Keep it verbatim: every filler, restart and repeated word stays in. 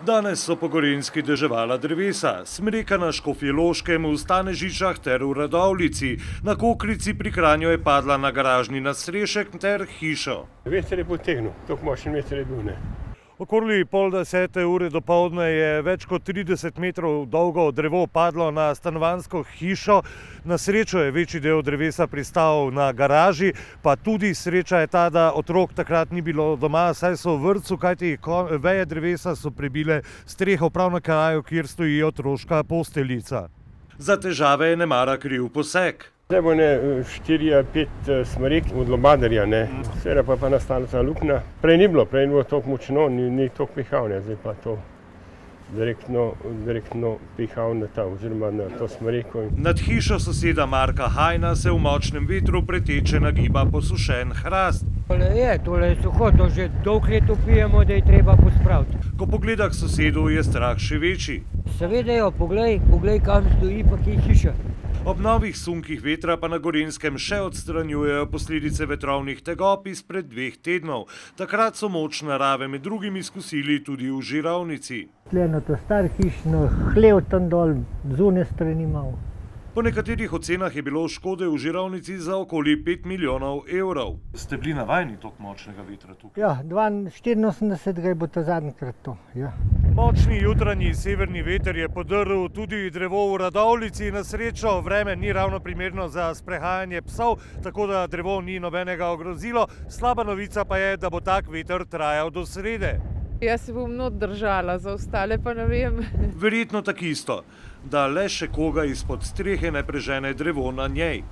Danes so po Gorenjski deževala drevesa, smreka na Škofjeloškem, v Stanežičah ter v Radovljici. Na Kokrici pri Kranju je padla na garažni nadstrešek ter hišo. Veter je potegnil, toliko močen veter je bil, ne. Okoli pol desete ure dopoldne je več kot trideset metrov dolgo drevo padlo na stanovanjsko hišo. Na srečo je večji del drevesa pristal na garaži, pa tudi sreča je ta, da otrok takrat ni bilo doma, saj so v vrtcu, kajti veje drevesa so prebile streho prav na kraju, kjer stoji otroška posteljica. Za težave je nemara kriv poseg. Zdaj bo ne štiri ali pet smrek od lobadarja, ne. Seveda pa je pa nastala ta luknja. Prej ni bilo, prej ni bilo toliko močno, ni, ni toliko pihal, ne. Zdaj pa to direktno, direktno pihal na ta, oziroma na to smreko. Nad hišo soseda Marka Hajna se v močnem vetru preteče nagiba posušen hrast. Tole je, tole je suho, to že dolgo let vpijemo, da je treba pospraviti. Ko pogleda k sosedu, je strah še večji. Seveda jo, poglej, poglej, kam stoji pa kje hiša. Ob novih sunkih vetra pa na Gorenjskem še odstranjujejo posledice vetrovnih tegob izpred dveh tednov. Takrat so moč narave med drugim izkusili tudi v Žirovnici. Tleno to star hišno, hlev tam dol, zunaj strani malo. Po nekaterih ocenah je bilo škode v Žirovnici za okoli pet milijonov evrov. Ste bili navajeni toliko močnega vetra tukaj? Ja, štiriinosemdeset je bo ta zadnjikrat to, ja. Močni jutranji severni veter je podrl tudi drevo v Radovljici. Na srečo vreme ni ravno primerno za sprehajanje psov, tako da drevo ni nobenega ogrozilo. Slaba novica pa je, da bo tak veter trajal do srede. Jaz se bom not držala, za ostale pa ne vem. Verjetno tak isto, da le še koga izpod strehe ne prežene drevo na njej.